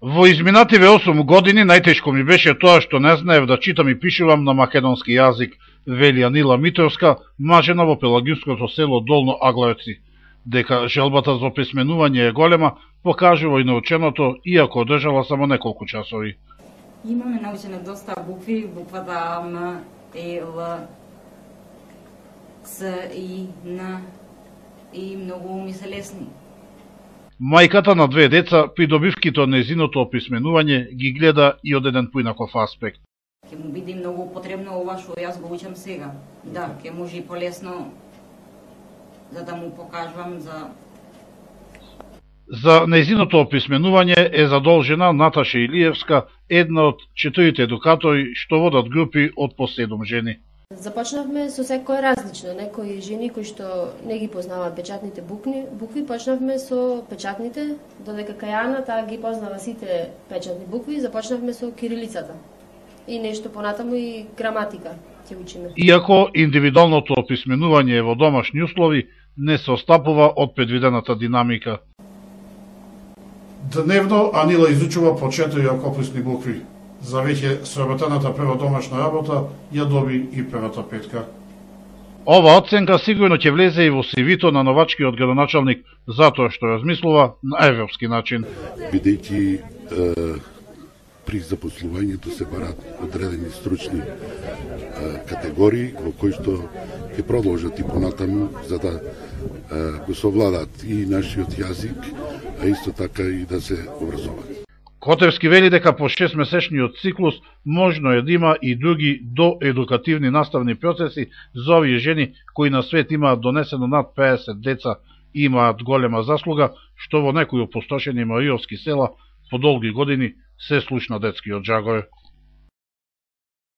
Во изминативе 8 години најтешко ми беше тоа што не знаев да читам и пишувам на македонски јазик, вели Анила Митровска, мажена во пелагинското село Долно Аглајоци. Дека желбата за описменување е голема, покажува и наученото, иако одржала само неколку часови. Имаме научено доста букви, буквата М, Е, Л, С, И, Н, и многу ми се лесни. Мајката на две деца, придобивките од нејзиното описменување ги гледа и од еден поинаков аспект. Ќе му биде многу потребно ова што јас го учам сега. Да, ќе може и полесно за да му покажувам За нејзиното описменување е задолжена Наташа Илиевска, една од 4 едукатори што водат групи од по 7 жени. Започнавме со секој различно, некои жени кои што не ги познаваат печатните букви, почнавме со печатните, додека Кајана таа ги познава сите печатни букви, започнавме со кирилицата. И нешто понатаму и граматика ќе учиме. Иако индивидуалното описменување во домашни услови не се остапува од предвидената динамика. Дневно Анила изучува по 4 ракописни букви. За веќе сработената прва домашна работа ја доби и првата петка. Ова оценка сигурно ќе влезе и во CV-то на новачкиот градоначалник затоа што размислува на европски начин. Бидејќи при запослувањето се барат одредени стручни категории во кои што ќе продолжат и понатаму за да го совладат и нашиот јазик, а исто така и да се образуваат. Котевски вели дека по 6-месечниот циклус можно е да има и други доедукативни наставни процеси за овие жени кои на свет имаат донесено над 50 деца и имаат голема заслуга, што во некои опустошени мариовски села по долги години се слушна детскиот жагој.